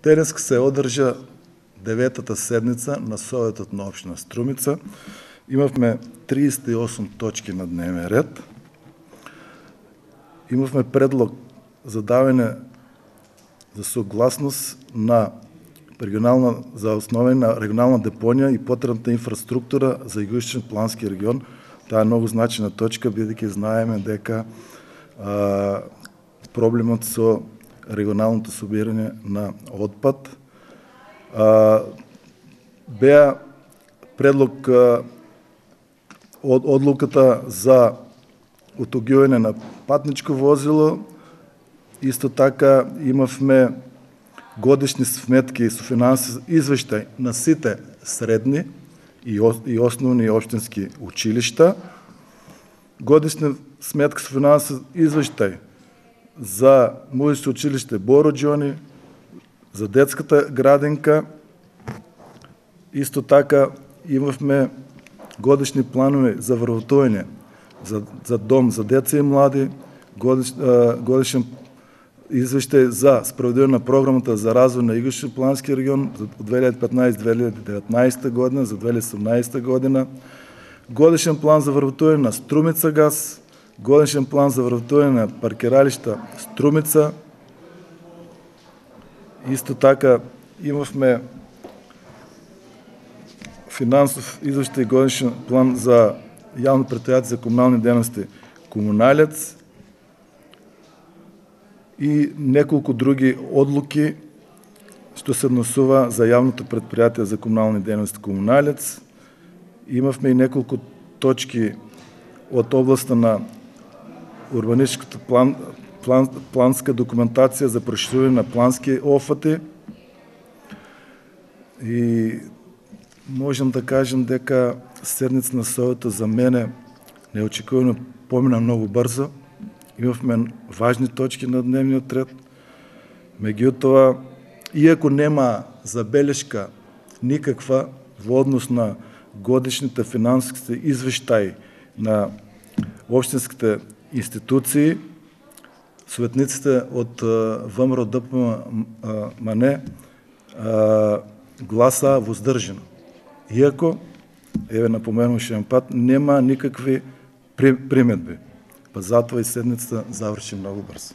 Денеска се одржа 9-та седница на Советот на општина Струмица. Имавме 38 точки на дневен ред. Имавме предлог за давање за согласност за основање на регионална депонија и потребната инфраструктура за Југоисточен плански регион. Таа е многу значајна точка, бидејќи знаеме дека проблемот со регионалното собирање на отпад беа предлог од одлуката за утугување на патничко возило. Исто така имавме годишни сметки со финансиски извештај на сите средни и основни и општински училишта, годишна сметка со финансиски извештај за музичко училиште Боро Џони, за детската градинка. Исто така имавме годишни планови за вработување за дом за деца и млади, годишен извештај за спроведување на програмата за развој на Југоисточен плански регион за 2015-2019 година, за 2018 година, годишен план за вработување на Струмица газ, годишен план за вработување на паркиралишта Струмица. Исто така имавме финансов извештај годишен план за јавно претпријатие за комунални дејности Комуналец и неколку други одлуки што се однесува за јавното претпријатие за комунални дејности Комуналец. Имавме и неколку точки од областа на урбанистичката планска документација за проширување на плански офати. И можам да кажем дека седница на Советот за мене неочекувано помина многу брзо. Имавме важни точки на дневниот ред. Меѓутоа, иако нема забелешка никаква во однос на годишните финансиски извештаи на општинските институции, советниците од ВМРО ДПМН гласа воздржано. Иако, еве напоменувам уште еден пат, нема никакви приметби. Па затоа и седницата заврши многу брзо.